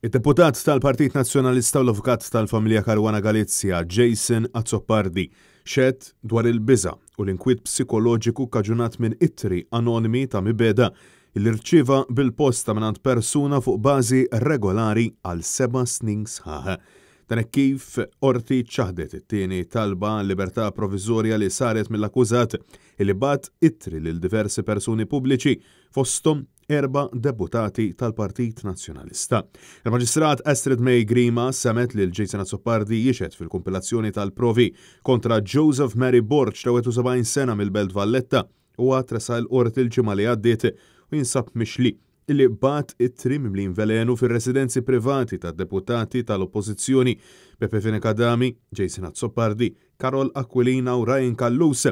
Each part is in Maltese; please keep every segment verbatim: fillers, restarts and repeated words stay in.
Id-deputat tal-Partit Nazzjonalista u l-Avukat tal-familja Caruana Galizia, Jason Azzopardi, xehed dwar il-biża u l-inkwiet psikoloġiku kaġunat minn ittri anonimi ta' mibegħda li rċieva bil-posta mingħand persuna fuq bażi regolari għal seba' snin sħaħ. Dan hekk kif qorti ċaħdet it-tieni talba libertà provviżorja li saret mill-akkużat li bagħat ittri lil diversi persuni pubbliċi, fosthom erba' deputati tal-Partit Nazzjonalista. Il-Maġistrat Astrid May Grima semgħet lil Jason Azzopardi jixhed fil-kumpilazzjoni tal-provi kontra Joseph Mary Borg ta' wieħed u sebgħin sena mill-Belt Valletta u tressaq il-qorti l-ġimgħa li għaddiet u jinsab mixli illi bagħat ittri mimlin velenu fir-residenzi privati ta' deputati tal-Oppożizzjoni Beppe Fenech Adami, Jason Azzopardi, Karol Aquilina u Ryan Callus,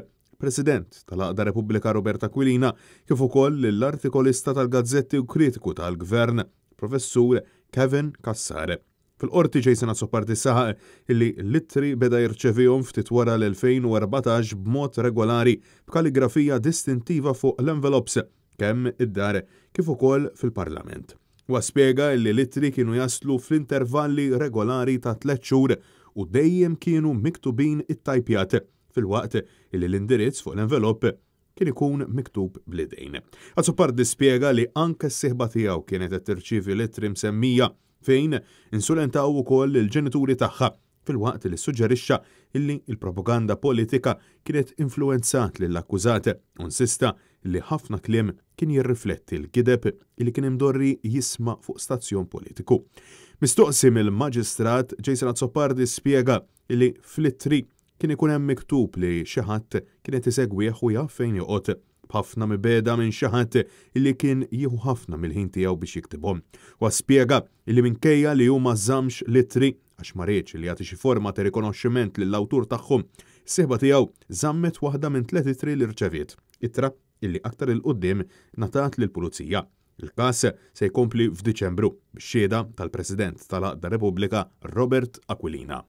President tal-Għaqda Repubblika Robert Aquilina, kif ukoll l-artikolista tal-gazzetti u kritiku tal-Gvern, Professur Kevin Cassar. Fil-qorti, Jason Azzopardi saħaq illi l-ittri beda jirċevihom ftit wara l-elfejn u erbatax b'mod regolari, b'kaligrafija distintiva fuq l-envelopes, kemm id-dar kif ukoll fil-Parlament. Huwa spjega li l-ittri kienu jaslu fl-intervalli regolari ta' tliet xhur u dejjem kienu miktubin it-tajpjat, filwaqt li l-indirizz fuq l-envelop kien ikun miktub bl-idejn. Azzopardi spjega li anke s-sieħba tiegħu kienet qed tirċievi l-ittri msemmija, fejn insulentaw ukoll il-ġenituri tagħha, filwaqt li suġġerixxa illi il-propaganda politika kienet influenzat lill-akkużat u insista li ħafna kliem kien jirrifletti l-gideb li kien imdorri jisma' fuq stazzjon politiku. Mistoqsi mill-Maġistrat, Jason Azzopardi spjega li fl-ittri kien ikun hemm miktub li xi ħadd kienet isegwih u jaf fejn joqgħod, b'ħafna mibegħda minn xi ħadd li kien jieħu ħafna mill-ħin tiegħu biex jiktibhom. U spjega li minkejja li hu ma żammx l-ittri għax ma riedx li jagħti xi forma ta' rikonoxximent lill-awtur tagħhom, is-sieħba tiegħu żammet waħda minn tliet ittri li rċeviet. Ittra illi aktar 'il quddiem ngħatat lill-pulizija. Il-każ se jkompli f'Diċembru bix-xhieda tal-President tal-Għaqda Repubblika, Robert Aquilina.